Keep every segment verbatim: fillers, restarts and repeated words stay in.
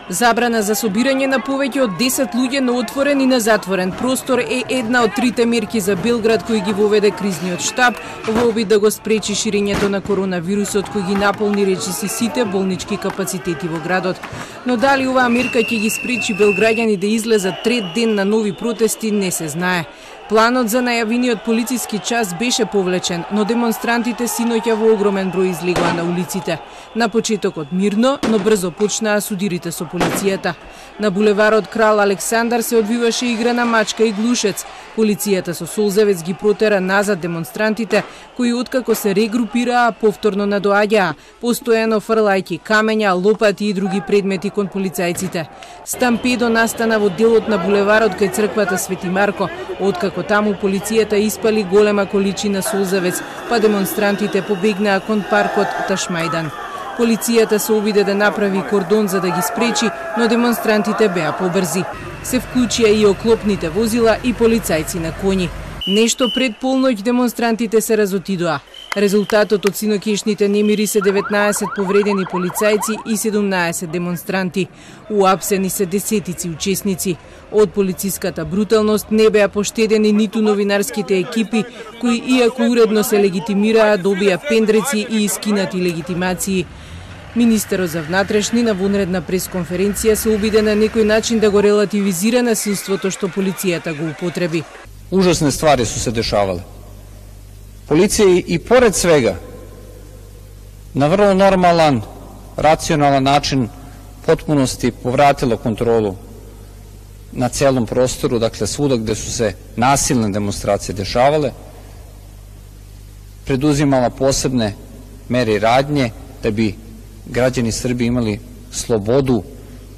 Забрана за собирање на повеќе од десет луѓе на отворен и на затворен простор е една од трите мерки за Белград кои ги воведе кризниот штаб во обид да го спречи ширењето на коронавирусот кој ги наполни речиси сите болнички капацитети во градот. Но дали оваа мерка ќе ги спречи белграѓани да излезат трет ден на нови протести не се знае. Планот за најавениот полициски час беше повлечен, но демонстрантите синоќа во огромен број излегоа на улиците. На почетокот мирно, но брзо почнаа судирите со полицијата. На булеварот Крал Александар се одвиваше игра на мачка и глушец. Полицијата со солзевец ги протера назад демонстрантите, кои откако се регрупираа повторно надоаѓаа, постојано фрлајќи камења, лопати и други предмети кон полицајците. Стампедо настана во делот на булеварот кај црквата Свети Марко, откако таму полицијата испали голема количина солзевец, па демонстрантите побегнаа кон паркот Ташмајдан. Полицијата се обиде да направи кордон за да ги спречи, но демонстрантите беа побрзи. Се вклучија и оклопните возила и полицајци на коњи. Нешто пред полноќ демонстрантите се разотидоа. Резултатот од синоќешните немири се деветнаесет повредени полицајци и седумнаесет демонстранти. Уапсени се десетици учесници. Од полициската бруталност не беа поштедени ниту новинарските екипи, кои иако уредно се легитимираа, добија пендреци и искинати легитимации. Министерот за внатрешни на вонредна пресконференција се обиде на некој начин да го релативизира насилството што полицијата го употреби. Ужасне ствари су се дешавале. Полиција и поред свега на врло нормалан, рационален начин потпуности повратила контролу на целом простору, dakle свуда gde su se nasilne demonstracije dešavale, preduzimala posebne mere i radnje da bi građani Srbije imali slobodu,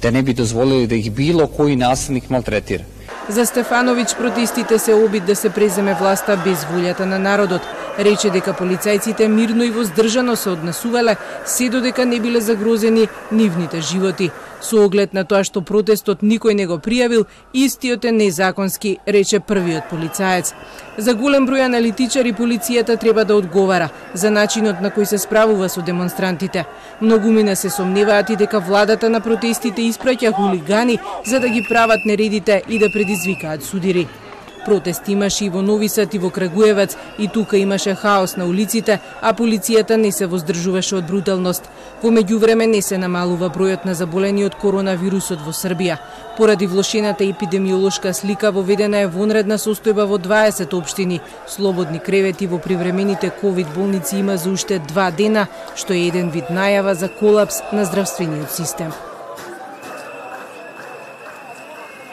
da ne bi dozvolili da ih bilo koji nasilnik maltretira. За Стефановиќ протестите се обид да се преземе власта без волјата на народот. Рече дека полицајците мирно и воздржано се однесувале, се додека не биле загрозени нивните животи. Со оглед на тоа што протестот никој не го пријавил, истиот е незаконски, рече првиот полицаец. За голем број аналитичари полицијата треба да одговара за начинот на кој се справува со демонстрантите. Многумина се сомневаат и дека владата на протестите испраќа хулигани за да ги прават нередите и да предизвикаат судири. Протест имаше и во Нови Сад и во Крагуевац, и тука имаше хаос на улиците, а полицијата не се воздржуваше од бруталност. Во меѓувреме не се намалува бројот на заболени од коронавирусот во Србија. Поради влошената епидемиолошка слика воведена е вонредна состојба во дваесет општини. Слободни кревети во привремените ковид болници има за уште два дена, што е еден вид најава за колапс на здравствениот систем.